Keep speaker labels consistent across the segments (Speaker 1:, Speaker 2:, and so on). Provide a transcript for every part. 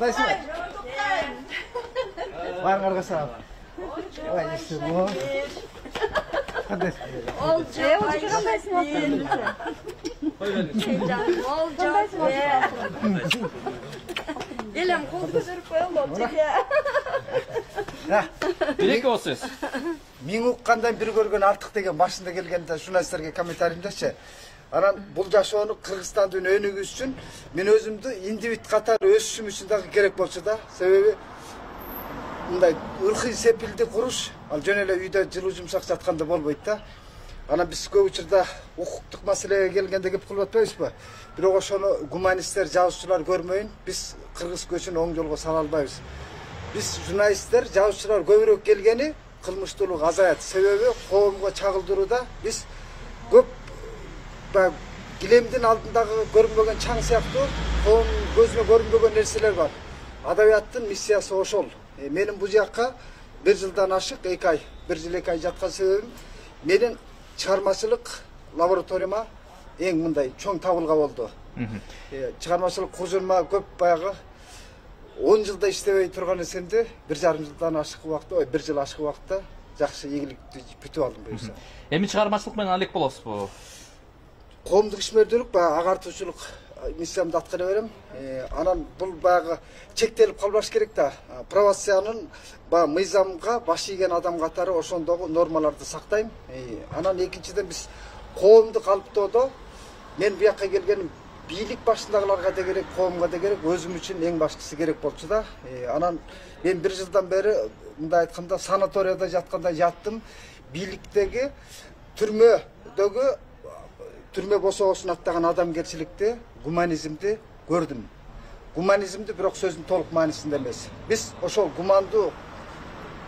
Speaker 1: Кандайсыңар? Барыңарга салам. Ой, ишимо. Кандайсыңар?
Speaker 2: Элем колду көтөрүп коелу.
Speaker 3: Биреке болсуз.
Speaker 1: Миң уккандан бир көргөн артык деген башында келгенде журналисттерге комментариymдачы. Анан бул жашоону Кыргызстандын өнүгүүсү үчүн мен өзүмдү индивид катары өсүшүм үчүн дагы керек болчу да. Себеби мындай ыркый сепилди куруш, ал жөн эле үйдө жылуу жумшак жатканда болбойт да. Анан биз көп учурда укуктук маселеге келгенде кеп кылып атпайбызбы? Бирок ошону гуманисттер, жазуучулар көрмөйүн, биз кыргыз көчүн оң жолго сала албайбыз. Биз журналисттер, жазуучулар көбүрөөк келгени кылмыштуулук азаят. Себеби коомго чагылдырууда биз көп килемдин алдындагы көрүнбөгөн чаң сыяктуу коом көзүнө көрүнбөгөн нерселер бар. Адабияттын миссиясы ошол. Менин бул жакка 1 жылдан ашык 2 ай, 1 жыл 2 ай жаткан себебим менин чыгармачылык лабораторияма эң мындай чоң табылга болду. Чыгармачылык кужурма көп баягы 10 жылда иштебей турган эсемди 1,5 жылдан ашык убакытта, 1 жыл ашык убакытта жакшы ийгиликти бүтүп алдым буюрса.
Speaker 3: Эми чыгармачылык менен алек болосузбу?
Speaker 1: Коомдук ишмердүүлүк баягы агартуучулук миссиямды аткара берем. Анан бул баягы чектелип калбаш керек да. Правоциянын мыйзамга баш ийген адам катары ошондогу нормаларды сактайм. Анан экинчиден биз коомду калыптоодо мен буякка келгеним бийлик башындагыларга да керек, коомго да керек, өзүм үчүн эң башкысы керек болчу да. Анан мен 1 жылдан бери мындай айтканда санаторияда жатканда жаттым. Бийликтеги түрмө босоосун аттаган адамгерчиликти, гуманизмди көрдүм. Гуманизмди бирок сөздүн толук маанисинде эмес. Биз ошол гумандуу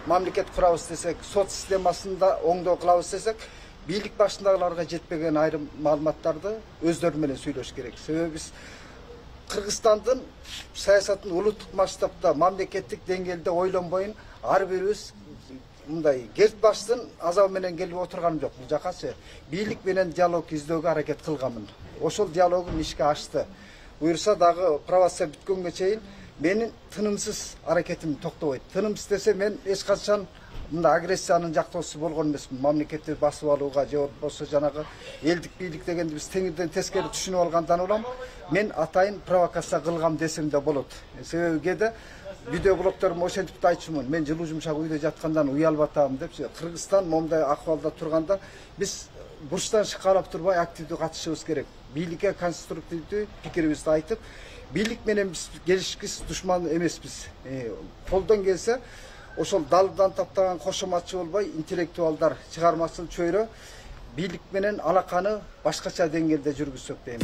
Speaker 1: мамлекет курабыз десек, сот системасында оңдоо кылабыз десек, бийлик башындагыларга жетпеген айрым маалыматтарды өздөрү менен сүйлөш керек. Себеби биз Кыргызстандын саясатын улуттук масштабда, мамлекеттик деңгээлде ойлонбойун ар бирибиз мындай керт баштын азабы менен келип отурганым жок. Бул жакачы бийлик менен диалог издөөгө аракет кылганмын. Ошол диалогум ишке ашты. Буюрса дагы провокация бүткөнгө чейин менин тынымсыз аракетим токтобойт. Тынымсыз десе мен эч качан мындай агрессиянын жактоосу болгон эмесмин. Мамлекетти басып алууга же болбосо жанагы элдик бийлик дегенди биз теңирден тескери түшүнүп алгандан улам мен атайын провокация кылгам десем да болот. Себеби кээде видеоблогторум ошентип да айтчумун. Мен жылуу жумшак үйдө жаткандан уялып атам депчи. Кыргызстан момундай акыбалда турганда биз бурчтан шыкалап турбай активдүү катышыбыз керек. Бийликке конструктивдүү пикирибизди айтып, бийлик менен биз келишкис душман эмеспиз. Колдон келсе ошол далдан таптаган кошоматчы болбой, интеллектуалдар, чыгармачыл чөйрө бийлик менен алаканы башкача деңгээлде жүргүзсөк дейм.